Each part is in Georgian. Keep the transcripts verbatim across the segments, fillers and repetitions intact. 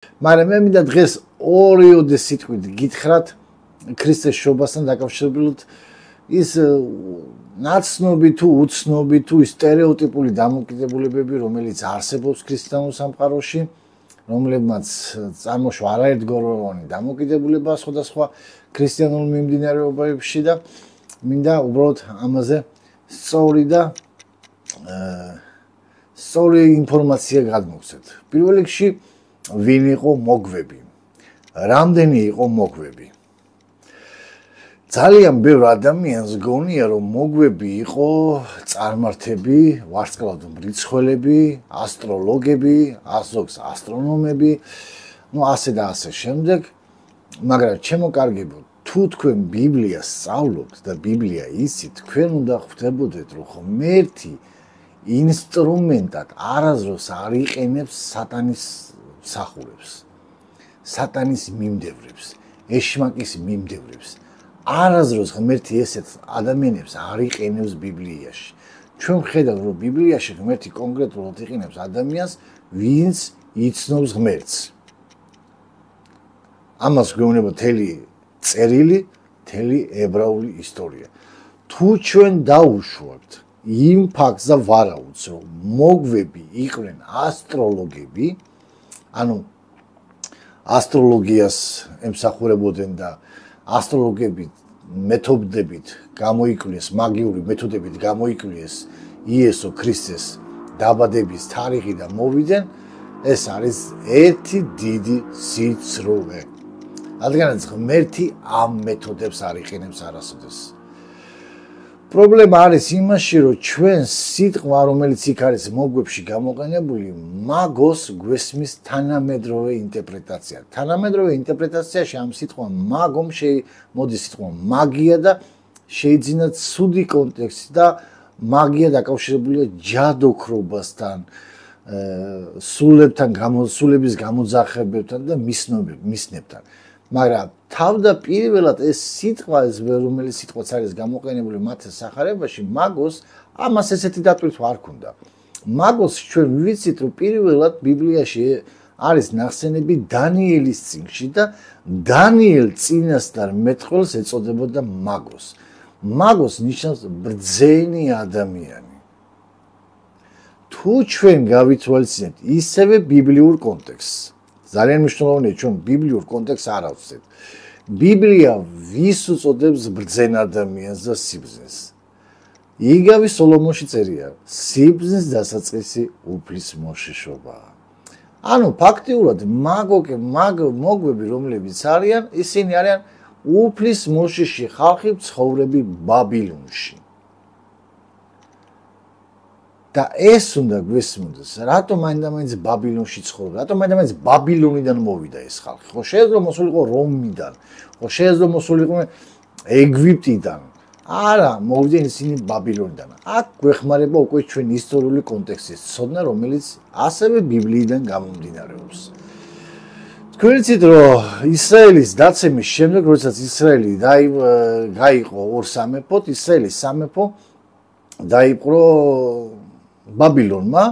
მაგრამ მე მინდა დღეს ორიოდე სიტყვით გითხრათ ქრისტეს შობასთან დაკავშირებით ის ნაცნობი თუ უცნობი თუ სტერეოტიპული დამოკიდებულებები, რომელიც არსებობს ქრისტიანულ სამყაროში, რომლებმაც წარმოშვა არაერთგვაროვანი დამოკიდებულება სხვადასხვა ქრისტიანულ მიმდინარეობებში და მინდა უბრალოდ ამაზე სწორი და სწორი ინფორმაცია გადმოგცეთ. პირველ რიგში ვინ იყო მოგვები? რამდენი იყო მოგვები? ძალიან ბევრ ადამიანს გონია რომ მოგვები იყო წარმართები, ვარსკვლავთ მრიცხველები, ასტროლოგები, ასოქს ასტრონომები, ну ასე და ასე შემდეგ, მაგრამ ჩემო კარგებო, თუ თქვენ ბიბლიას სწავლობთ და ბიბლია იცით, თქვენ უნდა ხვდებოდეთ რომ ღმერთი ინსტრუმენტად არასდროს არ იყენებს სატანის მსახურებს, სატანის მიმდევრებს, ეშმაკის მიმდევრებს. არასდროს ღმერთი ესეთ ადამიანებს არ იყენებს ბიბლიაში. ჩვენ ვხედავთ რომ ბიბლიაში ღმერთი კონკრეტულად იყენებს ადამიანს, ვინც იცნობს ღმერთს. ამას გვეუბნება მთელი წერილი, მთელი ებრაული ისტორია. თუ ჩვენ დაუშვებთ იმ ფაქტს და ვარაუდს, რომ მოგვები იყვნენ ასტროლოგები, ანუ ასტროლოგიას ემსახურებოდნენ და ასტროლოგებით მეთოდებით გამოიკვლიეს, მაგიური მეთოდებით გამოიკვლიეს იესო ქრისტეს დაბადების თარიღი და მოვიდნენ, ეს არის ერთი დიდი სიცრუე. რადგანაც ღმერთი ამ მეთოდებს არ იყენებს არასოდეს. პრობლემა არის იმაში, რომ ჩვენ სიტყვა, რომელიც იქ არის მოგვებში გამოყენებული, მაგოს გვესმის თანამედროვე ინტერპრეტაცია. თანამედროვე ინტერპრეტაციაში ამ სიტყვა მაგომ მოდის სიტყვა მაგია და შეიძინა ცუდი კონტექსტი და მაგია დაკავშირებულია ჯადოქრობასთან, სულებთან, სულების გამოძახებებთან და მისნებთან. მაგრამ თავდაპირველად ეს სიტყვა, ეს რომელიც სიტყვაც არის გამოყენებული მათ სახარებაში, მაგოს ამას ესეთი დატვირთვა არ ქონდა. მაგოს ჩვენ ვიცით, რომ პირველად ბიბლიაში არის ნახსენები დანიელის წიგნში და დანიელ წინასწარ მეტყველს ეწოდებოდა მაგოს. მაგოს ნიშნავს ბრძენი ადამიანი. თუ ჩვენ გავითვალისწინებთ ისევე ბიბლიურ კონტექსტს, ძალიან მნიშვნელოვანია ჩვენ ბიბლიურ კონტექსტს არ ავწევთ. ბიბლია ვის უწოდებს ბრძენ ადამიანს და სიბრძნეს? იგავი სოლომონში წერია, სიბრძნის დასაწყისი უფლის მოშიშობაა. ანუ ფაქტიურად მაგოკე მაგ მოგვები რომლებიც არიან, ისინი არიან უფლის მოშიში ხალხი ცხოვრები ბაბილონში. და ეს უნდა გვესმოდეს, რატომ მაინდა-მაინც ბაბილონში ცხოვრობენ? რატომ მაინდა-მაინც ბაბილონიდან მოვიდა ეს ხალხი? ხო შეიძლება მოსულიყო რომიდან, ხო შეიძლება მოსულიყო ეგვიპტიდან. არა, მოვიდნენ ისინი ბაბილონიდან. აქ გვეხმარება უკვე ჩვენ ისტორიული კონტექსტის ცოდნა, რომელიც ასევე ბიბლიიდან გამომდინარეობს. თქვენ იცით, რომ ისრაელის დაცემის შემდეგ, როდესაც ისრაელი გაიყო ორ სამეფოდ, ისრაელის სამეფო დაიპყრო ბაბილონმა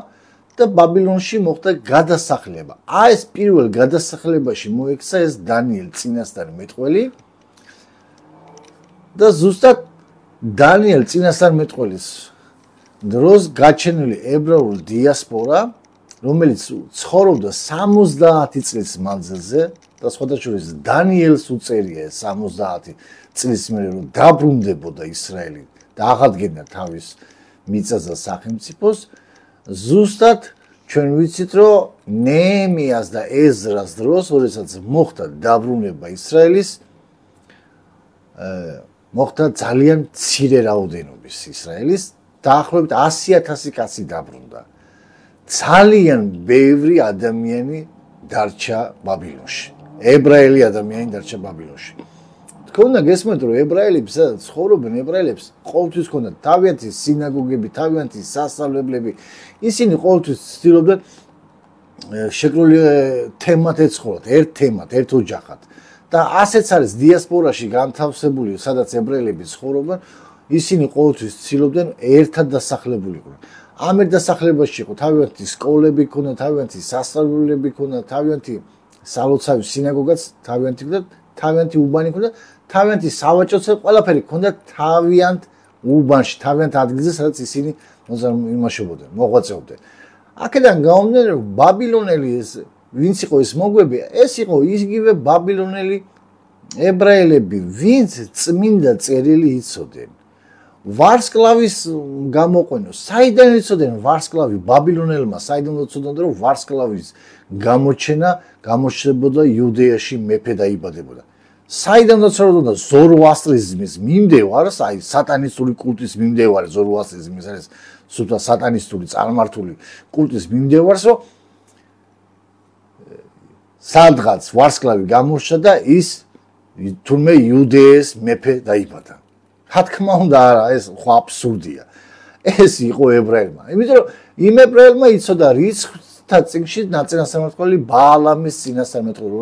და ბაბილონში მოხდა გადასახლება. აი ეს პირველ გადასახლებაში მოექცა ეს დანიელ წინასწარ მეტყველი და ზუსტად დანიელ წინასწარ მეტყველის დროს გაჩენილი ებრაული დიასპორა, რომელიც ცხოვრობდა სამოცდაათი წლის მანძილზე და სხვადასხვა დანიელს უწერია სამოცდაათი წლის მერე რომ დაბრუნდებოდა ისრაელი და აღადგენდა თავის მიწას და სახელმწიფოს, ზუსტად ჩვენ ვიცით, რომ ნეემიას და ეზრას დროს, როდესაც მოხდა დაბრუნება ისრაელის, მოხდა ძალიან მცირე რაოდენობის ისრაელის, დაახლოებით ასი ათასი კაცი დაბრუნდა. ძალიან ბევრი ადამიანი დარჩა ბაბილონში. ებრაელი ადამიანი დარჩა ბაბილონში. თქვენ გესმენთ, რომ ებრაელებს ცხოვრობენ, ებრაელებს ყოველთვის ჰქონდათ თავიანთი სინაგოგები, თავიანთი სასწავლებლები. ისინი ყოველთვის ცდილობდნენ შეკრული თემად ეცხოვრათ, ერთ თემად, ერთ ოჯახად. და ასეც არის დიასპორაში განთავსებული, სადაც ებრაელები ცხოვრობენ, ისინი ყოველთვის ცდილობდნენ ერთად დასახლებულიყვნენ. ამ ერთ დასახლებაში იყო თავიანთი სკოლები, ქონდა თავიანთი სასწავლებლები, ქონდა თავიანთი სალოცავი სინაგოგაც თავიანთი და თავიანთი უბანი ქონდა, თავიანთი სავაჭროც ყველაფერი ქონდა თავიანთ უბანში, თავიანთ ადგილზე, სადაც ისინი იმაშობოდნენ, მოღვაწეობდნენ. აქედან გამომდინარე, რომ ბაბილონელი ეს ვინც იყო ეს მოგვები, ეს იყო იგივე ბაბილონელი ებრაელები, ვინც წმინდა წერილი იცოდნენ. ვარსკვლავის გამოყვენო, საიდან იცოდნენ ვარსკვლავი ბაბილონელმა, საიდან იცოდნენ რომ ვარსკვლავის გამოჩენა გამოჩნდებოდა იუდეაში მეფე დაიბადებოდა. საიდან იცოდნენ ზოროასტრიზმის მიმდევარს, აი სატანისტური კულტის მიმდევარს, ზოროასტრიზმის არის სულთა სატანისტური წარმართული კულტის მიმდევარს, რომ სადღაც ვარსკვლავი გამოჩნდა და ის თურმე იუდეის მეფე დაიბადა. რა თქმა უნდა, არა, ეს ხო აბსურდია. ეს იყო ებრაელმა. იმიტომ რომ იმ ებრაელმა იცოდა რიცხვთა წიგნში ნაწილასამართლებელი ბაალამის წინასწარმეტყველი,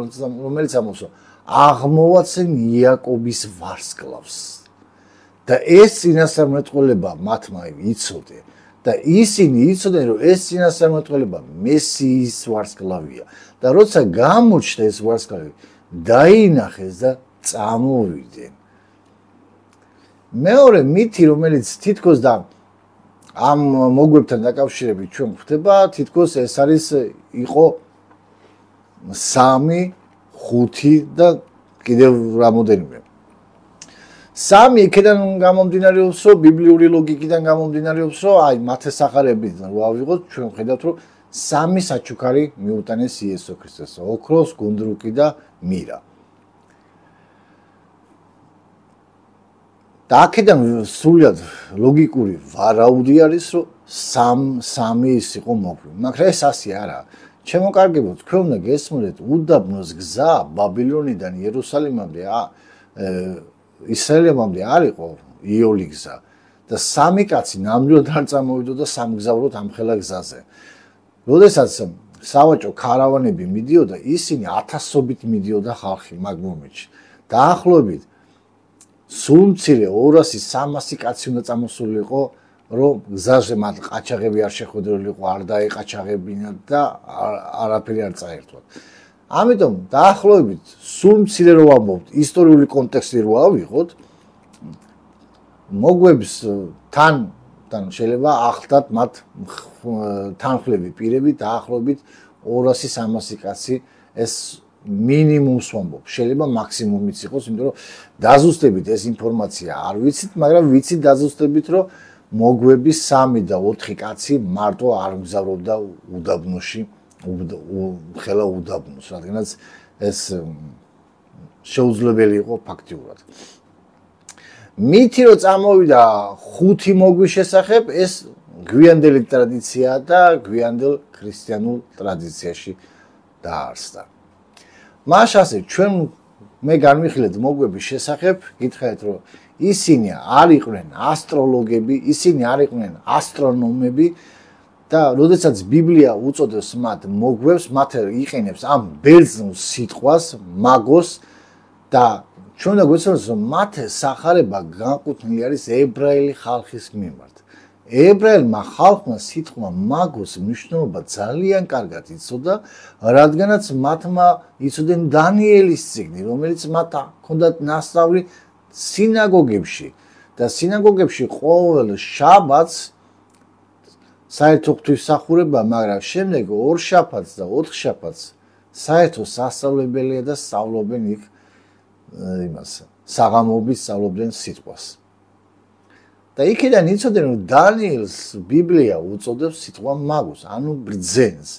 რომელიც ამბობს, აღმოვაცენ იაკობის ვარსკვლავს. და ეს წინასწარმეტყველება მათმა იცოდნენ და ისინი იცოდნენ, რომ ეს წინასწარმეტყველება მესიის ვარსკვლავია. და როცა გამოჩნდა ეს ვარსკვლავი, დაინახეს და წამოვიდნენ. მეორე მითი, რომელიც თითქოს და ამ მოგვებთან დაკავშირებით ჩვენ გვხვდება, თითქოს ეს არის იყო სამი, ხუთი და კიდევ რამოდენიმე. სამი იქიდან გამომდინარეობს, რომ ბიბლიური ლოგიკიდან გამომდინარეობს, რომ აი მათესახარებიდან რო ავიღოთ, ჩვენ ხედავთ, რომ სამი საჩუქარი მიუტანეს იესო ქრისტეს, ოქროს, გუნდრუკი და მირა. და აქედან სრულად ლოგიკური ვარაუდი არის, რომ სამ სამი ის იყო მოგვი. მაგრამ ეს ასე არა. ჩემო კარგებო, თქვენ უნდა გესმოდეთ, უდაბნოს გზა ბაბილონიდან იერუსალიმამდე, ისრაელამდე არ იყო იოლი გზა და სამი კაცი ნამდვილად არ წამოვიდოდა სამგზავროდ ამ ხელა გზაზე. როდესაც სავაჭრო ქარავანები მიდიოდა, ისინი ათასობით მიდიოდა ხალხი მაგ მომენტში. დაახლოებით სულ მცირე ორასი სამასი კაცი უნდა წამოსულიყო, რომ გზაზე მათ ყაჩაღები არ შეხვედრილიყო, არ დაეყაჩაღებინათ და არაფერი არ წაერთვათ. ამიტომ დაახლოებით სულ მცირე რო ვამბობთ, ისტორიული კონტექსტი რო ავიღოთ, მოგვებს თან თან შეიძლება ახლდათ მათ თანხლები პირები დაახლოებით ორასი სამასი კაცი ეს მინიმუმს ვამბობ, შეიძლება მაქსიმუმიც იყოს, იმიტომ რომ დაზუსტებით ეს ინფორმაცია არ ვიცით, მაგრამ ვიცით დაზუსტებით, რომ მოგვები სამი და ოთხი კაცი მარტო არ მგზავრობდა უდაბნოში, ხელა უდაბნოს, რადგანაც ეს შეუძლებელი იყო ფაქტიურად. მითი რომ წამოვიდა ხუთი მოგვის შესახებ, ეს გვიანდელი ტრადიციაა და გვიანდელ ქრისტიანულ ტრადიციაში დაარსდა. მას ასე ჩვენ მე განვიხილეთ მოგვების შესახებ, გითხრათ რომ ისინი არ იყვნენ ასტროლოგები, ისინი არ იყვნენ ასტრონომები და როდესაც ბიბლია უწოდებს მათ მოგვებს, მათ იყენებს ამ ბერძნულ სიტყვას, მაგოს და ჩვენ უნდა გვეცნოთ რომ მათ სახარება განკუთვნილი არის ებრაელი ხალხის მიმართ. ებრაელმა ხალხმა სიტყვა მაგოს მნიშვნელობა ძალიან კარგად იცოდა, რადგანაც მათმა იცოდნენ დანიელის წიგნი, რომელიც მათ ჰქონდათ ნასწავლი სინაგოგებში და სინაგოგებში ყოველ შაბათს საერთო ღვთისმსახურება, მაგრამ შემდეგ ორ შაბათს და ოთხ შაბათს საერთო სასწავლებელია და სწავლობენ იქ იმას, საღამოობით სწავლობდნენ სიტყვას. და იქიდან იცოდნენ რომ დანიელს ბიბლია უწოდებს სიტყვა მაგოს, ანუ ბრძენს.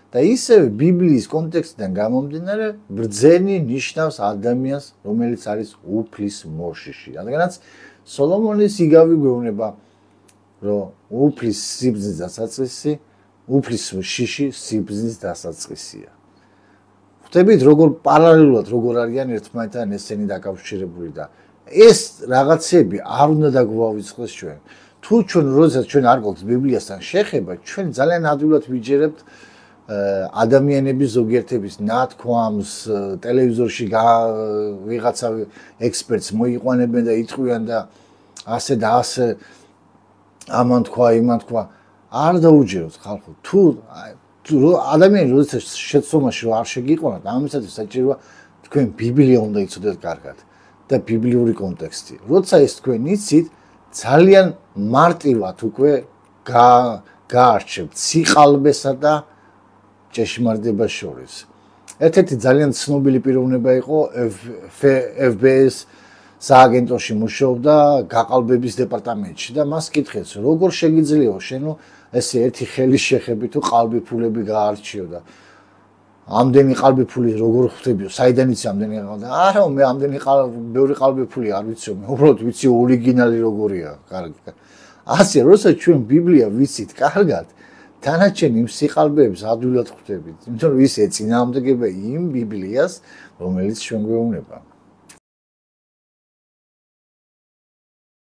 და ისევ ბიბლიის კონტექსტიდან გამომდინარე, ბრძენი ნიშნავს ადამიანს, რომელიც არის უფლის მოშიში. რადგანაც სოლომონის იგავი გვეუბნება, რომ უფლის სიბრძნის დასაწყისი, უფლის შიში სიბრძნის დასაწყისია. ხვდებით როგორ პარალელურად როგორ არიან ერთმანეთთან ესენი დაკავშირებული და ეს რაღაცები არ უნდა დაგვავიწყდეს ჩვენ. თუ ჩვენ როდესაც ჩვენ არ გვაქვს ბიბლიასთან შეხება, ჩვენ ძალიან ადვილად ვიჯერებთ ადამიანების ზოგიერთების ნათქვამს, ტელევიზორში ვიღაცა ექსპერტს მოიყვანებენ და იტყვიან და ასე და ასე ამან თქვა, იმან თქვა. არ დაუჯეროთ ხალხო. თუ ადამიანი როდესაც შეცდომაში რომ არ შეგიყვანოთ, ამისათვის საჭიროა თქვენ ბიბლია უნდა იცოდეთ კარგად და ბიბლიური კონტექსტი. როცა ეს თქვენ იცით, ძალიან მარტივად უკვე გაარჩევთ სიყალბესა და ჭეშმარიტებას შორის. ერთ-ერთი ძალიან ცნობილი პიროვნება იყო ეფ ბი ეს სააგენტოში მუშაობდა გაყალბების დეპარტამენტში და მას კითხეს, როგორ შეგიძლია შენო ესე ერთი ხელის შეხები თუ ყალბი ფულები გაარჩიო და ამდენი ყალბი ფული როგორ ხვდებიო, საიდან იცი ამდენი ყალბი? არა, მე ამდენი ყალბი, ბევრი ყალბი ფული არ ვიციო, მე უბრალოდ ვიცი ორიგინალი როგორია, კარგი. ასე, როცა ჩვენ ბიბლია ვიცით კარგად, თანაჩენ იმ სიყალბეებს ადვილად ხვდებით, იმიტომ რომ ის ეწინააღმდეგება იმ ბიბლიას, რომელიც ჩვენ გვეუბნება.